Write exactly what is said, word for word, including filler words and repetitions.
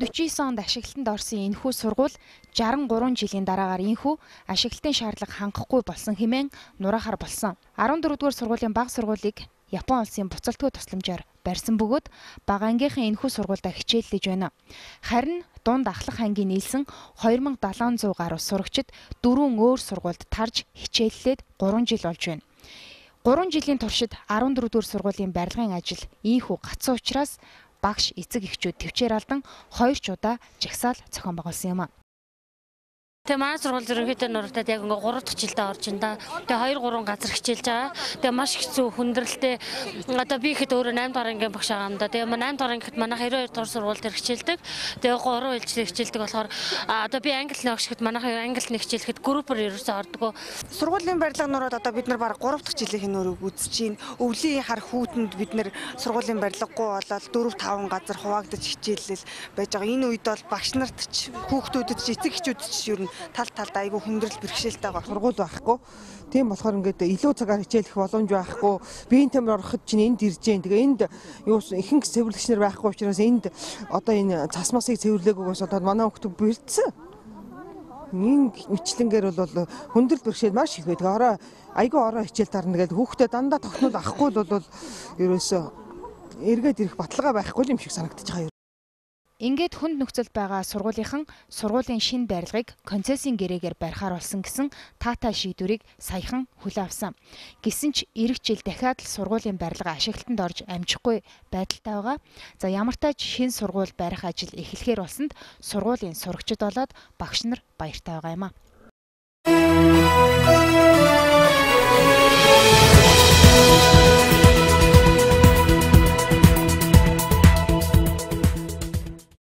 найман дөрвөн онд ашиглалтанд орсон энэхүү сургууль жаран гурван жилийн дараагаар энэхүү ашиглалтын шаардлага хангахгүй болсон хэмээн нураахаар болсон. арван дөрөвдүгээр сургуулийн бага сургуулийг Япон улсын буцалтгүй тусламжаар барьсан бөгөөд бага ангийнхаа энэхүү сургуультай хичээллэж байна. Харин дунд ахлах ангийн нийлсэн хоёр мың долоон зуун гаруй сурагчид дөрвөн өөр сургуульд тарж хичээллээд гурван жил болж байна. гурван жилийн туршид арван дөрөвдүгээр сургуулийн барилгын ажил ийхүү гацсан учраас багш эцэг эхчүүд төвчээр алдан хоёр ч удаа жагсаал зохион байгуулсан юм а. Тэгээ манай сургууль ерөнхийдөө нурагтад яг ингээ гурав дахь жилдээ орж ин да. Тэгээ хоёр гурван газар хичээлж байгаа. Тэгээ маш хэцүү хүндрэлтэй. Одоо би ихэд өөрөө найм дахь ангийн багш байгаа юм да. Тэгээ найм дахь ангид манай хоёр дахь сургууль дээр хичээлдэг. Тэгээ гурван жилдээ хичээлдэг болохоор одоо би англи нэг багшд манай англи нэг хичээлэхэд группээр ерөөсөө ордгоо. Сургуулийн барилга нураад одоо бид нар баг гурав дахь жилийн нөрөг үзэж чинь. Өвлийн хар хүүтэнд бид нар сургуулийн барилгагүй болоод дөрөв таван газар хуваагдаж хичээлэл байж байгаа. Энэ үед бол багш нарт ч хүүхдүүдэд ч эцэг эхчүүдэд ч ер нь тал талд айгүй хүндрэл бэрхшээлтэй байгаа. Сургууль байхгүй. Тийм болохоор ингээд илүү цагаар хичээлэх боломж байхгүй. Биеийн тамир ороход чинь энд ирж जैन. Тэгээ энд юу ихэнх цэвэрлэгч нар байхгүй учраас энд одоо энэ цас масыг цэвэрлээгүйгээс одоо манай хүүхдүүд бэрдсэн. Ин мэтлэнгээр бол хүндрэл бэрхшээл маш их байдаг. Ороо айгүй ороо хичээл дарна гэдэг хүүхдэд дандаа тогтнол авахгүй бол ерөөсөө эргээд ирэх баталгаа байхгүй юм шиг санагдаж байгаа. Ингээд хүнд нөхцөлд байгаа сургуулийнхан сургуулийн шинэ барилгыг концессийн гэрээгээр барихаар болсон гэсэн таатай шийдвэрийг саяхан хүлээн авсан. Гэсэн ч эх жил дахиад л сургуулийн барилга ашиглалтанд орж амжихгүй байдалтай байгаа. За ямар тач шинэ сургууль барих ажил эхлэхээр болсонд сургуулийн сурагчид болоод багш нар баяртай байгаа юм а.